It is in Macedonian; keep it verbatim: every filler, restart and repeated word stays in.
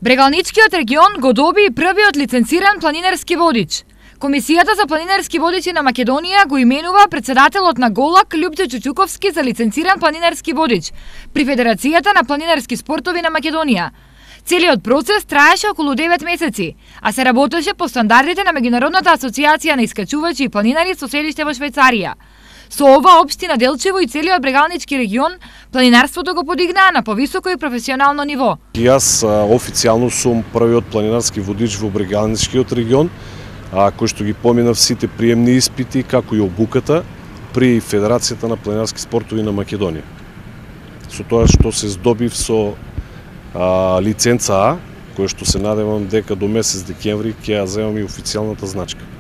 Брегалничкиот регион го доби првиот лиценциран планинарски водич. Комисијата за планинарски водичи на Македонија го именува председателот на Голак Љупчо Чучуковски за лиценциран планинарски водич при Федерацијата на планинарски спортови на Македонија. Целиот процес траеше околу девет месеци, а се работеше по стандардите на Меѓународната асоциација на искачувачи и планинари со седиште во Швајцарија. Со ова општина Делчево и целиот Брегалнички регион планинарството го подигнаа на повисоко и професионално ниво. Јас официјално сум првиот планинарски водич во Брегалничкиот регион, а, кој што ги поминав сите приемни испити, како и обуката при Федерацијата на планинарски спортови на Македонија. Со тоа што се здобив со а, лиценца А, која што се надевам дека до месец декември ќе ја земам и официјалната значка.